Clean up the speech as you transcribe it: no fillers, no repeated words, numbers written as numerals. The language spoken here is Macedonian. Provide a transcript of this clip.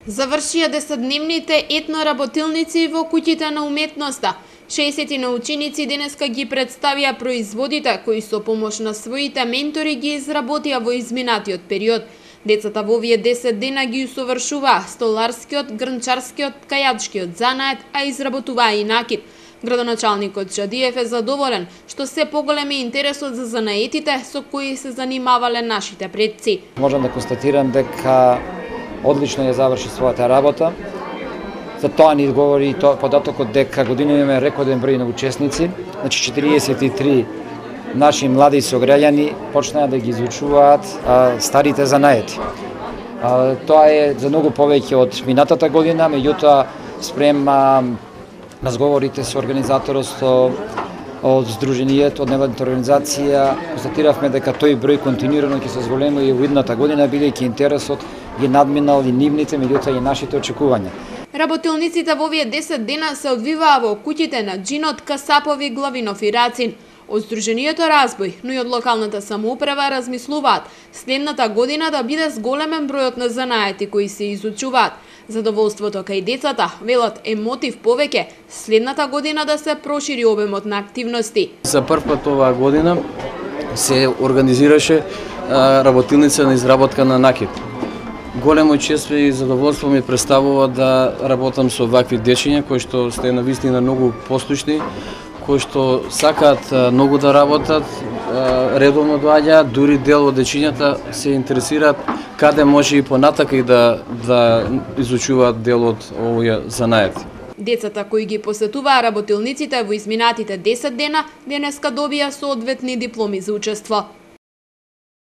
Завршија 10-дневните етноработилници во куќите на уметноста. 60 ученици денеска ги представија производите кои со помош на своите ментори ги изработија во изминатиот период. Децата во овие 10 дена ги усовршуваа столарскиот, грнчарскиот, кајачкиот занает, а изработуваа и накид. Градоначалникот Чадиев е задоволен што се поголем е интересот за занаетите со кои се занимавале нашите предци. Можам да констатирам дека одлично ја заврши својата работа. За тоа ни говори и податокот дека година имаме рекорден број на учесници, значи 43 наши млади сограѓани почнаа да ги изучуваат старите занаети. Тоа е за многу повеќе од минатата година, меѓутоа спрема разговорите со организаторот од Сдруженијето, од невладината организација, констатиравме дека тој број континуирано ќе се зголеми и во идната година, бидејќи интересот ги надминал и нивните, меѓутоа и нашите очекувања. Работилниците во овие 10 дена се одвиваа во куќите на Џинот, Касапови, Главинов и Рацин. Од Сдруженијето Разбој, но и од локалната самоуправа размислуваат следната година да биде зголемен бројот на занаети кои се изучуваат. Задоволството кај децата, велат, е мотив повеќе следната година да се прошири обемот на активности. За прв пат оваа година се организираше работилница на изработка на накид. Големо чест и задоволство ми представува да работам со вакви дечиња кои што сте на вистина многу послушни, кои што сакаат многу да работат, редовно доаѓаат, дури дел од дечињата се интересираат каде може и понатака и да изучуваат дел од овој занает. Децата кои ги посетуваа работилниците во изминатите 10 дена денеска добија соодветни дипломи за учество.